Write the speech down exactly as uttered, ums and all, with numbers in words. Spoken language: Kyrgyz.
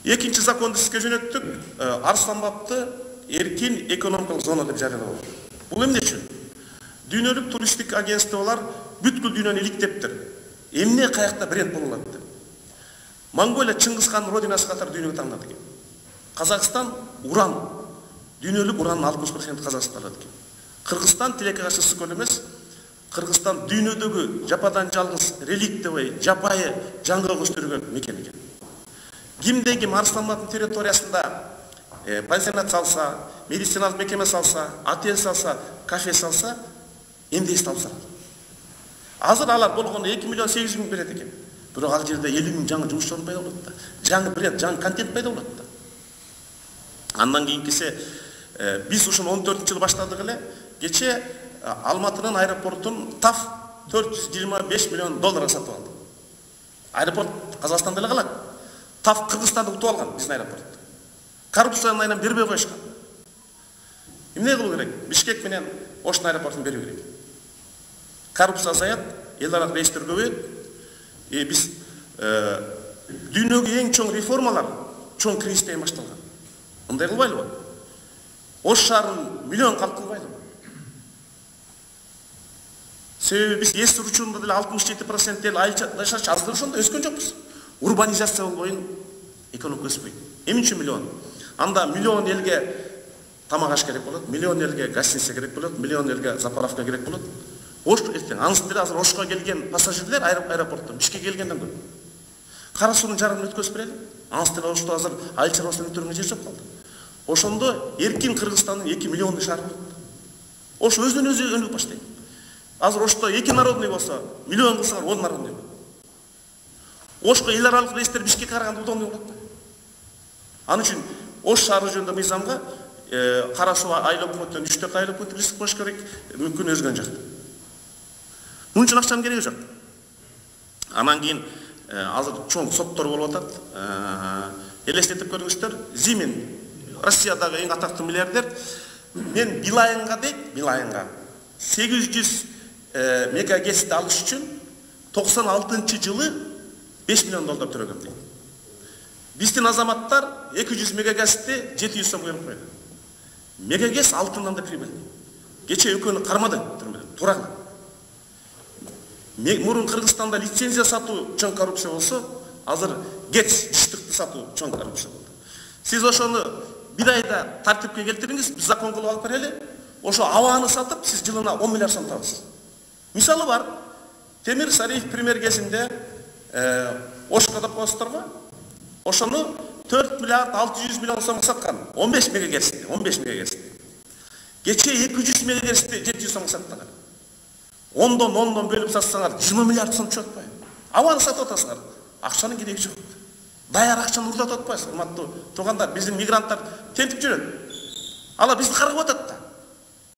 Экинчи законду сизге жөнөттүк. Арысланбапты эркин экономикалык зона деп жарыялап. Бул эмне үчүн? Дүйнөлүк туристтик агентстволор бүткүл дүйнөнү иликтептир. Эмне каякта бренд боло алат деп. Монголия Чыңгыз хандын родинасы катары дүйнөгө таңдалды экен. Казакстан уран. Дүйнөлүк уранын алтымыш проценти Казакстанда экен. Кыргызстан тилекке каршы ысык эмес. Кыргызстан дүйнөдөгү жападан жалгыз реликтовый, жапайы жаңгак өстүргөн мекен экен. Кимде ким Арысланбаптын территориясында пансионат салса, медициналык мекеме салса, отель салса, кафе салса, эмне салып салат. Азыр алар болгондо эки миллион сегиз жүз миң берет экен. Бирок ал жерде элүү миң жаңы жумуш орун пайда болот да. Жаңы бренд, жаңы контент пайда болот да. Андан кийинкиси биз ушуну он төртүнчү жылы баштадык эле. Кече Алматынын аэропортун ТАФ төрт жүз жыйырма беш миллион долларга сатып алды. Аэропорт Казакстанда эле калат. ТАФ Кыргызстанды утуп алган биздин аэропорт. Коррупциянын айынан бербей коюшкан. Эмне кылуу керек? Бишкек менен Оштун аэропортун берүү керек. Коррупция азаят, эл аралык рейстер көбөйөт. И биз дүйнөгө эң чоң реформалар чоң кризистен башталган. Мындай кылбайлыбы? Ош шаарын миллион калк кылбайлыбы? Себеби биз эс учурунда деле алтымыш жети процент эл айыл жашачы, азыр ошондо өскөн жокпуз. Урбанизация болбойн, экономика өспөйт. Эмне үчүн миллион? Анда миллион элге тамак аш керек болот, миллион элге гостиница керек болот, миллион элге заправка керек болот. Ош эртең анысы деле азыр Ошко келген пассажирлер аэропорттон Бишкекке келгенден көп. Кара суунун жарымын өткөзүп берели. Анысы деле Ошто азыр айыл чарбасынан өтөргөнгө жер жок калды. Ошондо эркин Кыргызстандын эки миллиондук шаары болот. Ош өзүнөн өзү өнүгүп баштайт. Азыр Ошто эки народный болсо, миллион кылсаңар он народный болот. Ошко эл аралык рейстер Бишкекке караганда удобный болот. Ал үчүн Ош шаары жөнүндө мыйзамга кара суу айыл өкмөттөн үч төрт айыл өкмөт бирлик коюш керек, мүмкүн өзгөн жакта. Мун үчүн акчанын кереги жок. Анан кийин азыр чоң соттор болуп атат. Элестетип көрүңүздөр, Зимин Россиядагы эң атактуу миллиардер. Мен Билайынга дейт, Билайынга сегиз жүз мегагерцти алыш үчүн токсон алтынчы жылы беш миллион доллар төлөгөм дейт. Биздин азаматтар эки жүз мегагерцти жети жүз сомго алып койду. Мегагерц алтындан да прибыльный. Кече экөөнү кармады түрмөдө, туура. Мурун Кыргызстанда лицензия сатуу чоң коррупция болсо, азыр ГЭЦ жыштыкты сатуу чоң коррупция болду. Сиз ошону бир айда тартипке келтириңиз, биз закон кылып алып берели. Ошо абаны сатып, сиз жылына он миллиард сом табасыз. Мисалы бар. Темир Сариев премьер кезинде Ошко деп коесуздарбы? Ошону төрт миллиард алты жүз миллион сомго саткан. он беш мегагерцти, он беш мегагерцти. Кече эки жүз мегагерцти жети жүз сомго саткан. ондон ондон бөлүп сатсаңар жыйырма миллиард сом чыгып атпайбы? Абаны сатып атасыңар. Акчанын кереги жок. Даяр акчаны уурдатып атпайсыз, урматтуу туугандар. Биздин мигранттар тентип жүрөт. Алар бизди каргап атат да.